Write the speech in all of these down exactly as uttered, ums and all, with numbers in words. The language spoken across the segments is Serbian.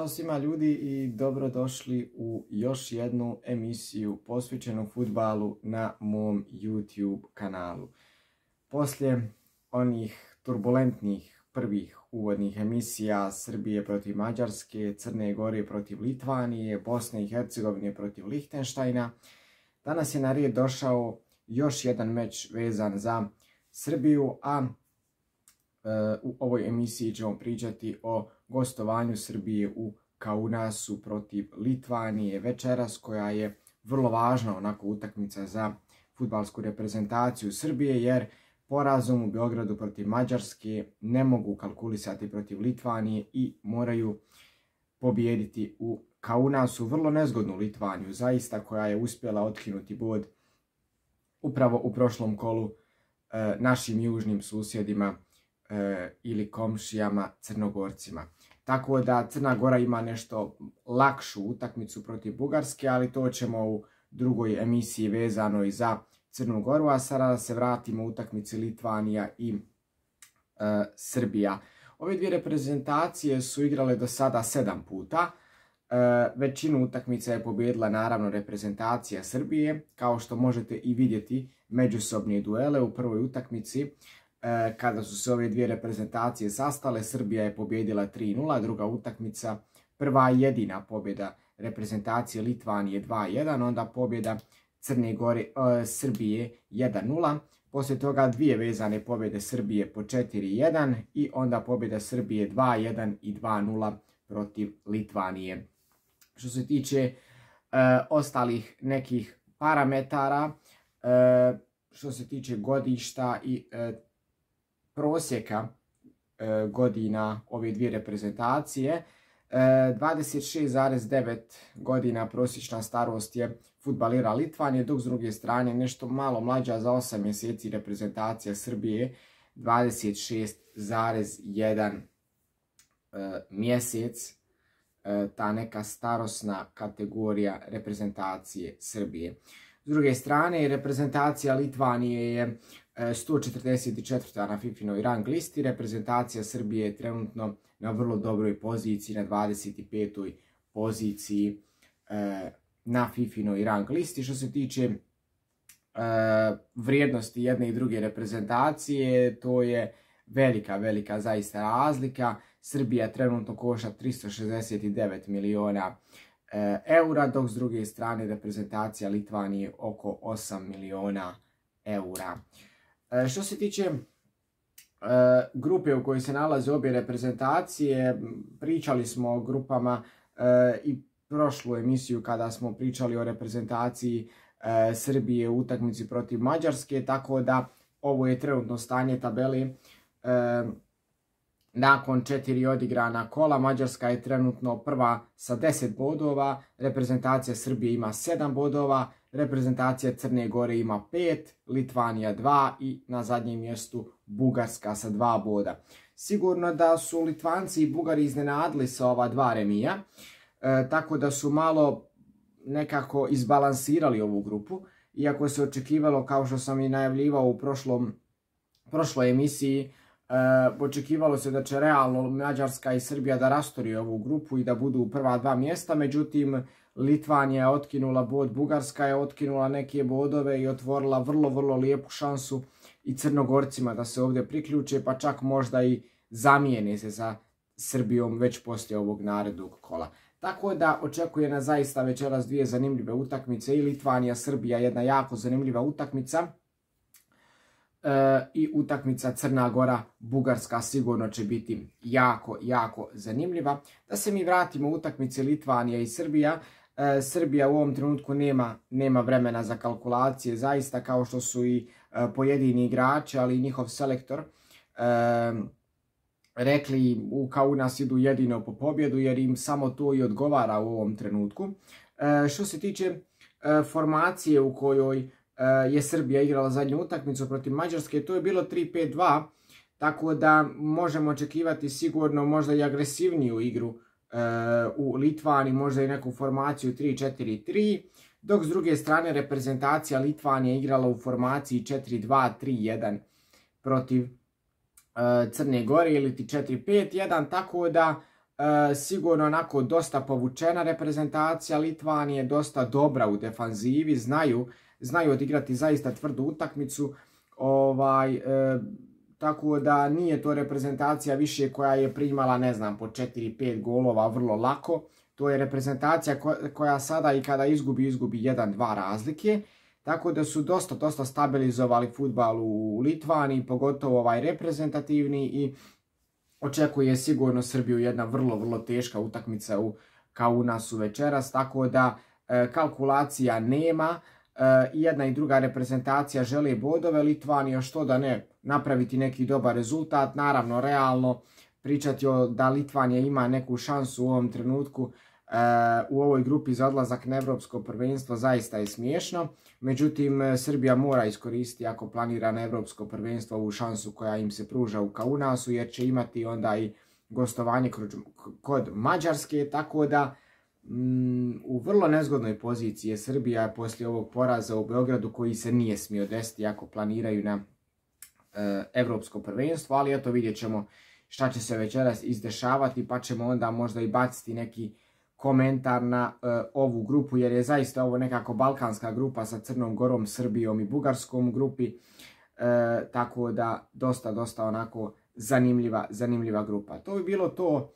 Ćao svima ljudi i dobrodošli u još jednu emisiju posvećenu fudbalu na mom YouTube kanalu. Poslije onih turbulentnih prvih uvodnih emisija Srbije protiv Mađarske, Crne Gore protiv Litvanije, Bosne i Hercegovine protiv Lihtenštajna, danas je na red došao još jedan meč vezan za Srbiju, a u ovoj emisiji ćemo pričati o gostovanju Srbije u Kaunasu protiv Litvanije večeras, koja je vrlo važna onako utakmica za fudbalsku reprezentaciju Srbije, jer porazom u Beogradu protiv Mađarske ne mogu kalkulisati protiv Litvanije i moraju pobijediti u Kaunasu. Vrlo nezgodnu Litvaniju, zaista, koja je uspjela otkinuti bod upravo u prošlom kolu e, našim južnim susjedima ili komšijama Crnogorcima. Tako da Crna Gora ima nešto lakšu utakmicu protiv Bugarske, ali to ćemo u drugoj emisiji vezano i za Crnu Goru, a sada se vratimo u utakmici Litvanija i e, Srbija. Ove dvije reprezentacije su igrale do sada sedam puta. E, većinu utakmica je pobijedila naravno reprezentacija Srbije, kao što možete i vidjeti međusobne duele u prvoj utakmici. Kada su se ove dvije reprezentacije sastale, Srbija je pobijedila tri nula, druga utakmica, prva i jedina pobjeda reprezentacije Litvanije dva jedan, onda pobjeda Crne Gore, e, Srbije jedan nula, poslije toga dvije vezane pobjede Srbije po četiri jedan i onda pobjeda Srbije dva jedan i dva nula protiv Litvanije. Što se tiče e, ostalih nekih parametara, e, što se tiče godišta i e, prosjeka e, godina ove dvije reprezentacije, e, dvadeset šest zarez devet godina prosječna starost je fudbalera Litvanije, dok s druge strane nešto malo mlađa za osam mjeseci reprezentacija Srbije, dvadeset šest zarez jedan e, mjesec, e, ta neka starosna kategorija reprezentacije Srbije. S druge strane, reprezentacija Litvanije je sto četrdeset četvrta na fifinoj rang listi, reprezentacija Srbije je trenutno na vrlo dobroj poziciji, na dvadeset petoj poziciji e, na fifinoj rang listi. Što se tiče e, vrijednosti jedne i druge reprezentacije, to je velika, velika zaista razlika. Srbija trenutno košta tristo šezdeset devet miliona e, eura, dok s druge strane reprezentacija Litvanije oko osam miliona eura. Što se tiče e, grupe u kojoj se nalaze obje reprezentacije, pričali smo o grupama e, i prošlu emisiju kada smo pričali o reprezentaciji e, Srbije u utakmici protiv Mađarske, tako da ovo je trenutno stanje tabeli. E, nakon četiri odigrana kola, Mađarska je trenutno prva sa deset bodova, reprezentacija Srbije ima sedam bodova, reprezentacija Crne Gore ima pet, Litvanija dva i na zadnjem mjestu Bugarska sa dva boda. Sigurno da su Litvanci i Bugari iznenadili sa ova dva remija, e, tako da su malo nekako izbalansirali ovu grupu, iako se očekivalo, kao što sam i najavljivao u prošlom, prošloj emisiji, e, očekivalo se da će realno Mađarska i Srbija da rastoriju ovu grupu i da budu u prva dva mjesta, međutim Litvanija je otkinula bod, Bugarska je otkinula neke bodove i otvorila vrlo, vrlo lijepu šansu i Crnogorcima da se ovdje priključe, pa čak možda i zamijene se sa Srbijom već poslije ovog narednog kola. Tako da očekuje nas zaista večeras dvije zanimljive utakmice, i Litvanija, Srbija, jedna jako zanimljiva utakmica, e, i utakmica Crna Gora, Bugarska sigurno će biti jako, jako zanimljiva. Da se mi vratimo u utakmice Litvanija i Srbija. E, Srbija u ovom trenutku nema, nema vremena za kalkulacije, zaista, kao što su i e, pojedini igrači, ali i njihov selektor e, rekli, u Kaunas idu jedino po pobjedu, jer im samo to i odgovara u ovom trenutku. E, što se tiče e, formacije u kojoj e, je Srbija igrala zadnju utakmicu protiv Mađarske, to je bilo tri pet dva, tako da možemo očekivati sigurno možda i agresivniju igru u Litvaniji, možda i neku formaciju tri četiri tri, dok s druge strane reprezentacija Litvanije igrala u formaciji četiri dva tri jedan protiv Crne Gore ili četiri pet jedan, tako da E, sigurno onako dosta povučena reprezentacija Litvanije, dosta dobra u defanzivi, znaju, znaju odigrati zaista tvrdu utakmicu, ovaj, e, tako da nije to reprezentacija više koja je primala, ne znam, po četiri pet golova vrlo lako. To je reprezentacija koja sada i kada izgubi, izgubi jedan dva razlike. Tako da su dosta, dosta stabilizovali fudbal u Litvaniji, pogotovo ovaj reprezentativni, i očekuje sigurno Srbiju jedna vrlo, vrlo teška utakmica u Kaunasu večeras. Tako da e, kalkulacija nema. I jedna i druga reprezentacija žele bodove. Litvanija, što da ne, napraviti neki dobar rezultat. Naravno, realno pričati o da Litvanija ima neku šansu u ovom trenutku u ovoj grupi za odlazak na evropsko prvenstvo zaista je smiješno. Međutim, Srbija mora iskoristiti, ako planira na evropsko prvenstvo, ovu šansu koja im se pruža u Kaunasu, jer će imati onda i gostovanje kod Mađarske, tako da u vrlo nezgodnoj poziciji je Srbija poslije ovog poraza u Beogradu, koji se nije smio desiti ako planiraju na evropsko prvenstvo, ali eto, vidjet ćemo šta će se večeras izdešavati, pa ćemo onda možda i baciti neki komentar na ovu grupu, jer je zaista ovo nekako balkanska grupa sa Crnom Gorom, Srbijom i Bugarskom u grupi, tako da dosta, dosta onako zanimljiva, zanimljiva grupa. To bi bilo to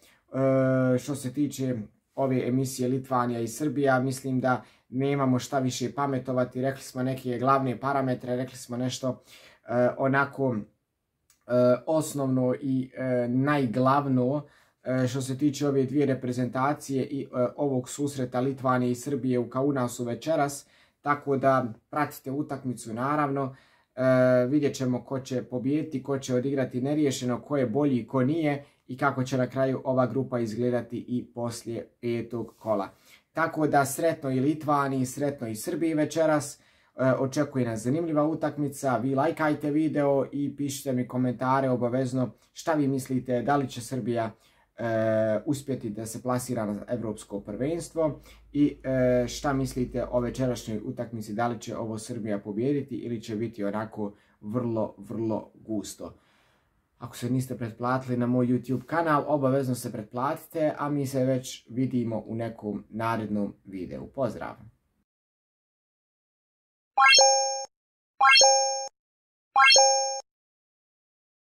što se tiče ove emisije Litvanija i Srbija. Mislim da nemamo šta više pametovati, rekli smo neke glavne parametre, rekli smo nešto e, onako e, osnovno i e, najglavno e, što se tiče ove dvije reprezentacije i e, ovog susreta Litvanije i Srbije u Kaunasu večeras, tako da pratite utakmicu naravno. E, vidjet ćemo ko će pobijediti, ko će odigrati neriješeno, ko je bolji, ko nije, i kako će na kraju ova grupa izgledati i poslije petog kola. Tako da sretno i Litvaniji, sretno i Srbiji večeras. E, očekuje nas zanimljiva utakmica. Vi lajkajte video i pišite mi komentare obavezno šta vi mislite, da li će Srbija e, uspjeti da se plasira na evropsko prvenstvo i e, šta mislite o večerašnjoj utakmici, da li će ovo Srbija pobijediti ili će biti onako vrlo, vrlo gusto. Ako se niste pretplatili na moj YouTube kanal, obavezno se pretplatite, a mi se već vidimo u nekom narednom videu. Pozdrav!